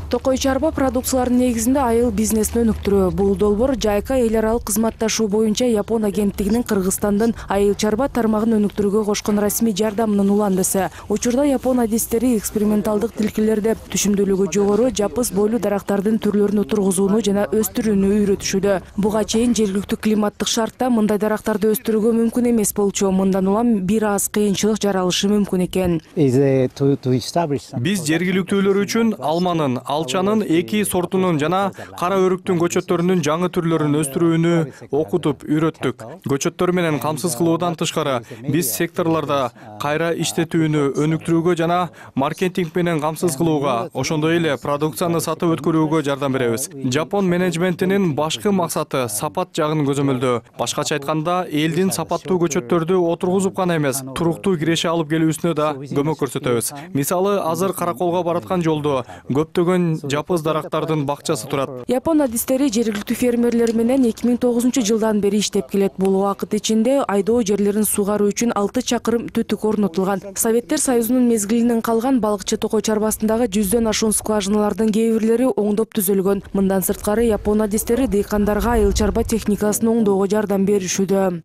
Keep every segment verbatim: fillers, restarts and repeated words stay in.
Токой чарба продукцияларынын негизинде айыл бизнесин өнүктүрүү. Бул долбоор Жайка эл аралык кызматташуу боюнча Япон агенттигинин Кыргызстандын айыл чарба тармагын өнүктүрүүгө кошкон расмий жардамынын уландысы. Учурда Япон адистери эксперименталдык тилкелерде түшүмдүүлүгү жогору жапыс бойлуу дарактардын түрлөрүн отургузууну жана өстүрүүнү үйрөтүшүүдө. Буга чейин жергиликтүү климаттык шартта мындай дарактарды өстүрүүгө мүмкүн эмес болчу. Мындан улам бир аз кыйынчылык жаралышы мүмкүн экен. Биз жергиликтүүлөр үчүн алманын, алчанын эки сортунун жана кара өрүктүн көчөттөрүнүн жаңы түрлөрүн өстүрүүнү окутуп үйрөттүк. Көчөттөр менен камсыз кылуудан тышкары, биз секторлордо кайра иштетүүнү өнүктүрүүгө жана маркетинг менен камсыз кылууга, ошондой эле продукцияны сатып өткөрүүгө жардам беребиз. Жапон менеджментинин башкы максаты сапат жагын көзөмөлдөө. Башкача айтканда, элдин сапаттуу көчөттөрдү отургузуп гана эмес, туруктуу киреше алып келүүсүнө да көмөк көрсөтөбүз. Мисалы, азыр Караколго бараткан жолдо көптөгөн жапыс дарактардын бакчасы турат. Япон адистери жергиликтүү фермерлер менен эки миң тогузунчу жылдан бери иштеп келет. Бул убакыт ичинде айдоо жерлерин сугаруу үчүн алты чакырым түтүк орнотулган. Советтер Союзунун мезгилинен калган балыкчы Токой чарбасындагы жүздөн ашуун скважиналардын кээ бирлери оңдоп түзүлгөн. Мындан сырткары Япон адистери дыйкандарга айыл чарба техникасын оңдоого жардам беришүүдө.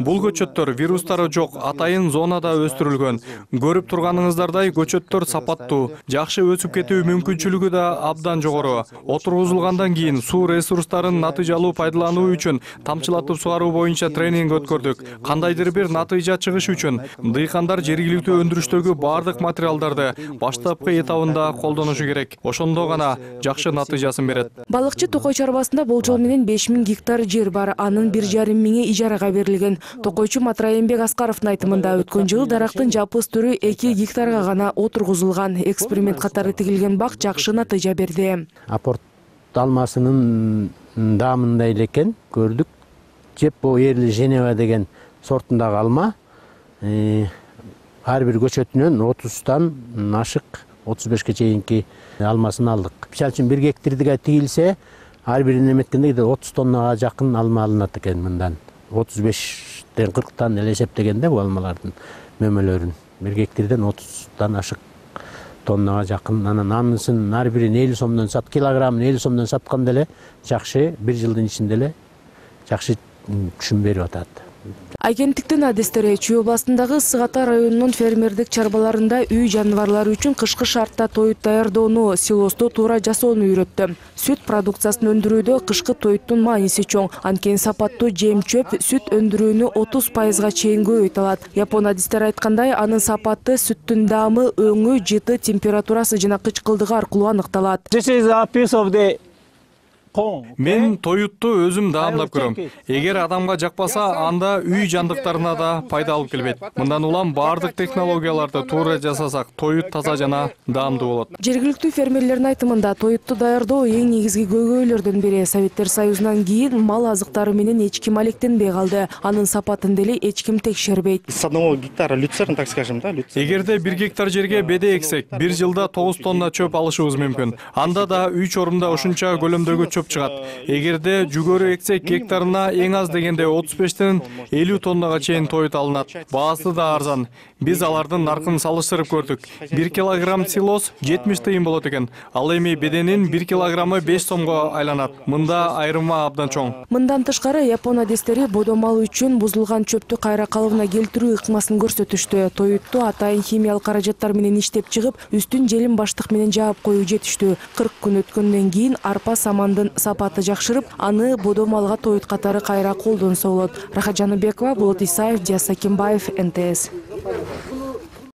Бул көчөттөр вирустары жок, атайын зонада өстүрүлгөн. Көрүп турганыңыздардай көчөттөр сапаттуу, жакшы өсүп кетүү мүмкүнчүлүгү да абдан жогору. Отургузулгандан кийин суу ресурстарын натыйжалуу пайдалануу үчүн тамчылатып сугаруу боюнча тренинг өткөрдүк. Кандайдыр бир натыйжа чыгыш үчүн дыйкандар жергиликтүү өндүрүштөгү бардык материалдарды баштапкы этабында колдонушу керек. Ошондо гана жакшы натыйжасын берет. Балыкчы Токой чарбасында болжол менен беш миң гектар жер бар. Анын бир жарым миңи ижарага берилген. Токойчу Матраембек Аскаровдун айтымында өткөн жылы дарактын жапыс түрү эки гектарга гана отургузулган. Эксперимент катары тигилген бак жакшы натыйжа берди. Апорт алмасынын даамындай эле экен көрдүк. Жеппо Эрли Женева деген сортундагы алма ар бир көчөтүнөн отуздан ашык отуз бешке чейинки алмасын алдык. Мисалы үчүн бир гектарга тигилсе, ар бирин эметкенде отуз тоннага жакын алма алынат экен мындан. отуз бештен кырктан эле эсептегенде бул алмалардын мөмөлөрүн бир гектардан отуздан ашык тоннага жакын. Анан анысын ар бирин элүү сомдон сат, килограммын элүү сомдон сатканда эле жакшы бир жылдын ичинде эле жакшы түшүм берип атат. Агенттиктин адистери Чүй областындагы Ысык Ата районунун фермердик чарбаларында үй жаныбарлары үчүн кышкы шартта тоют даярдоону, силосту туура жасоону үйрөттү. Сүт продукциясын өндүрүүдө кышкы тоюттун мааниси чоң. Анткени сапаттуу жем-чөп сүт өндүрүүнү отуз пайызга чейин көбөйт алат. Япон адистери айткандай, анын сапаты сүттүн даамы, өңү, жыты, температурасы жана кычкылдыгы аркылуу аныкталат. Мен тоютту өзүм даамдап көрөм. Эгер адамга жакпаса, анда үй жандыктарына да пайда алып келбейт. Мындан улам бардык технологияларды туура жасасак, тоют таза жана даамдуу болот. Жергиликтүү фермерлердин айтымында тоютту даярдоо эң негизги көйгөйлөрдүн бири. Советтер Союзунан кийин мал азыктары менен эч ким алектенбей калды. Анын сапатын деле эч ким текшербейт. С одного гектара люцерн, так скажем, да? Эгерде бир гектар жерге беде эксек, бир жылда тогуз тонна чөп алышыбыз мүмкүн. Анда да үй чорумда ушунча көлөмдөгү чөп чыгат. Эгерде жүгөрү эксек, гектарына эң аз дегенде отуз бештен элүү тоннага чейин тоют алынат. Баасы да арзан. Биз алардын наркын салыштырып көрдүк. бир килограмм силос жетимиш тыйын болот экен. Ал эми беденин бир килограммы беш сомго айланат. Мында айырма абдан чоң. Мындан тышкары Япон адистери бодо мал үчүн бузулган чөптү кайра калыбына келтирүү ыкмасын көрсөтүштү. Тоютту атайын химиялык каражаттар менен иштеп чыгып, үстүн желим баштык менен жаап коюу жетиштүү. кырк күн өткөндөн кийин арпа самандын сапаты жакшырып, аны бодо малга тоют катары кайра колдонсо болот. Рахат Жаныбекова, Болот Исаев, Диас Сакимбаев, эн тэ эс.